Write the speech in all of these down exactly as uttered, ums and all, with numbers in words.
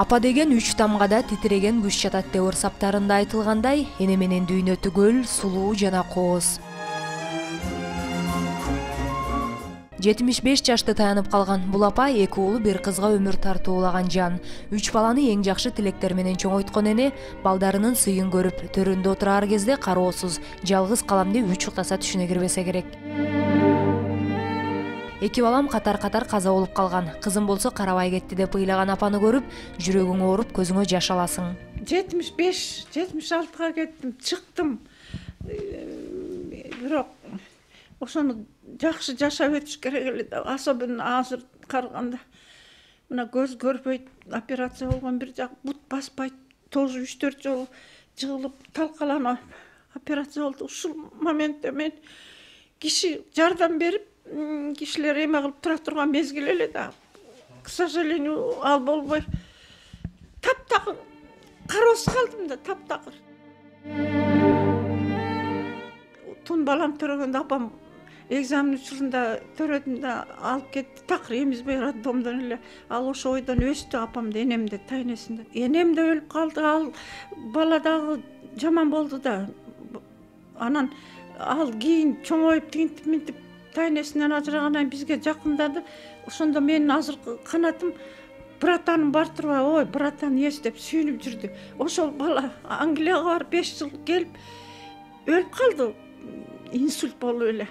Апа деген үч тамгада титиреген күч жатат деп ырсаптарында айтылгандай, эне менен дүйнө түгөл, сулуу жана кооз. жетимиш беш жашты таянып калган бул апа эки уулу бир кызга өмүр тартуулаган жан. Үч баланы эң жакшы тилектер менен чоңойткон эне балдарынын сыйын көрүп, төрөндө отурар кезде кароосуз, жалгыз калам деп үч уктаса түшүнө кирбесе керек. Эки балам катар-катар каза болуп калган. Кызым болсо карабай кетти деп ыйлаган апаны көрүп, жүрөгүң ооруп, көзүңө жаш аласың. жетимиш беш, жетимиш алтыга кеттим, чыктым. Бирок ошону жакшы жашап өтүш керек эле да, особенно азыр караганда. Мына көз көрбөйт, операция болгон бир жак, бут баспайт, тоже үч төрт жолу жыгылып, талкаланып операция болду. Ушул моментте мен киши жардам берип, кишилер эме кылып тура турган мезгил эле да. К сожалению, ал болбой таптакыр кароосуз калдым да, таптакыр. Тун балам төрөгөндө апам экзамен учурунда төрөдүм да алып кетти. Такыр эмизбей роддомдон эле. Ал ошо ойдон өстү, апамды, энемди, тайнесинде. Энем да өлүп калды, ал бала дагы жаман болду да. Анан ал кийин чоңоюп, тигинтип минтип тайнесинен ажырагандан бизге жакындады. Ошондо менин азыркы канатым братаным бар турбай, ой, братан ес деп сүйүнүп жүрдү. Ошол бала Англияга барып беш жыл келип өлүп калды. Инсульт болуп эле.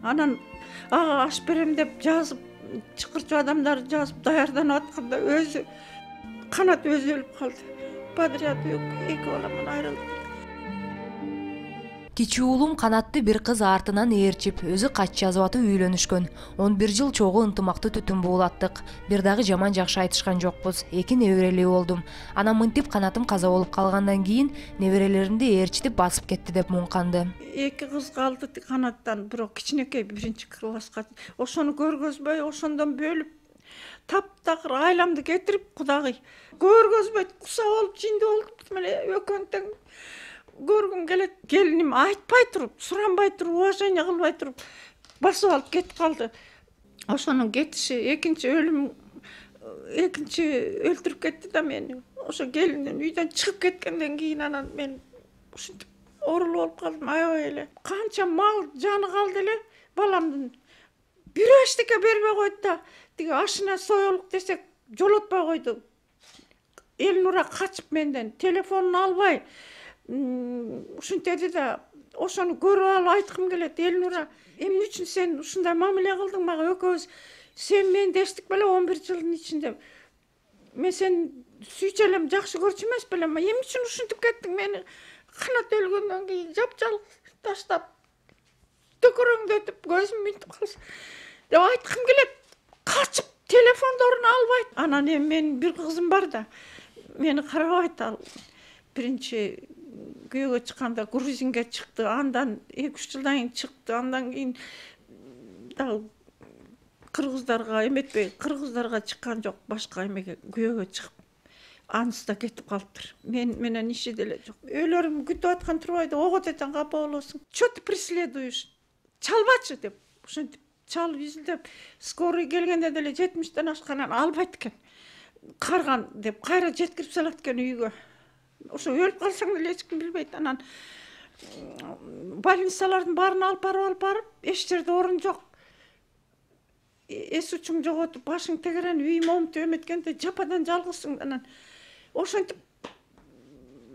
Анан ага аш берем деп жазып, чакырчу адамдар жазып даярданып атканда өзү канат өзү өлүп калды. Подряд эки баламдан айрылды. Кичүү уулум канатты бир кыз артынан ээрчип, өзү кач жазып атып үйлөнүшкөн. он бир жыл чогуу ынтымактуу түтүн буулаттык. Бир дагы жаман жакшы айтышкан жокпуз. Эки неберелүү болдум. Анан мынтип канатым каза болуп калгандан кийин неберелеримди ээрчитип басып кетти деп муңканды. Эки кыз калды канаттан, бирок кичинекей биринчи класска. Ошону көргөзбөй, ошондон бөлүп, таптакыр айламды кетирип, кудагый көргөзбөй куса болуп, жинди болуп эле экөөнү тең көргүм келет. Келиним айтпай туруп, суранбай туруп, уважение кылбай туруп басып алып кетип калды. Ошонун кетиши, экинчи өлүм, экинчи өлтүрүп кетти да мени. Ошо келиндин үйдөн чыгып кеткенден кийин анан мен ушинтип оорулуу болуп калдым, аябай эле. Канча мал жаны калды эле баламдын. Бирөө эчтеке бербей койду да, тиги ашына соелук десек жолотпой койду. Элнура качып менден, телефонун албай ушинтеди да, ошону көрүп алып айткым келет. Элнура, эмне үчүн сен ушундай мамиле кылдың мага? Экөөбүз сен менди эчтик беле он бир жылдын ичинде. Мен сени сүйчү элем, жакшы көрчү эмес белем. Эмне үчүн ушинтип кеттиң мени? Канат өлгөндөн кийин жапжалгыз таштап, төкөрөңдөтүп, көзүм минтип калса деп айткым келет. Качып телефондорун албайт. Анан эми менин бир кызым бар да, мени карабайт. Ал биринчи күйөөгө чыкканда грузинге чыкты, андан эки үч жылдан кийин чыкты, андан кийин дагы кыргыздарга эметпей, кыргыздарга чыккан жок, башка эмеге күйөөгө чыгып, анысы да кетип калыптыр. Мен менен иши деле жок. Өлөрүм күтүп аткан турбайда, ого десең капа болосуң. Что ты преследуешь? Чалбачы деп, ошентип чалып изилдеп, скорый келгенде деле жетимиштен ашканан албайт экен. Карган деп кайра жеткирип салат экен үйгө. Ошо өлүп калсаң деле эч ким билбейт. Анан больницалардын баарын алып барып алып барып, эч жерде орун жок. Эс учуң жоготуп, башың тегеренип, үйүм оңтуп эметкенде жападан жалгызсың. Анан ошентип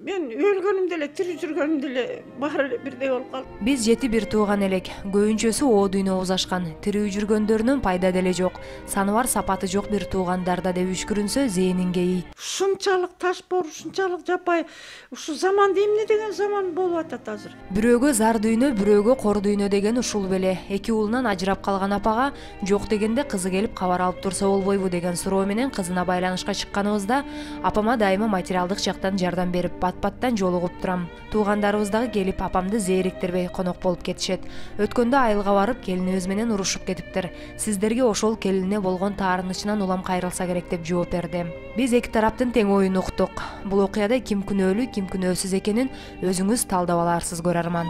мен өлгөнүм деле, тирүү жүргөнүм деле баары эле бирдей болуп калды. Биз жети бир тууган элек. Көбүнчөсү о дүйнө узашкан. Тирүү жүргөндөрүнүн пайда деле жок. Саны бар, сапаты жок бир туугандарда деп үшкүрүнсө зээнин кейийт. Ушунчалык ташпор, ушунчалык жапай, ушу заманда эмне деген заман болуп атат азыр. Бирөөгө зар дүйнө, бирөөгө кор дүйнө деген ушул беле. Эки уулунан ажырап калган апага жок дегенде кызы келип кабар алып турса болбойбу деген суроо менен кызына байланышка чыкканыбызда апама дайыма материалдык жактан жардам берип, бат-баттан жолугуп турам. Туугандарыбыз дагы келип апамды зээриктирбей конок болуп кетишет. Өткөндө айылга барып, келинибиз менен урушуп кетиптир. Сиздерге ошол келине болгон таарынычынан улам кайрылса керек деп жооп берди. Биз эки тараптын тең оюн уктук. Бул окуяда ким күнөөлүү, ким күнөөсүз экенин өзүңүз талдап аларсыз, көрөрман.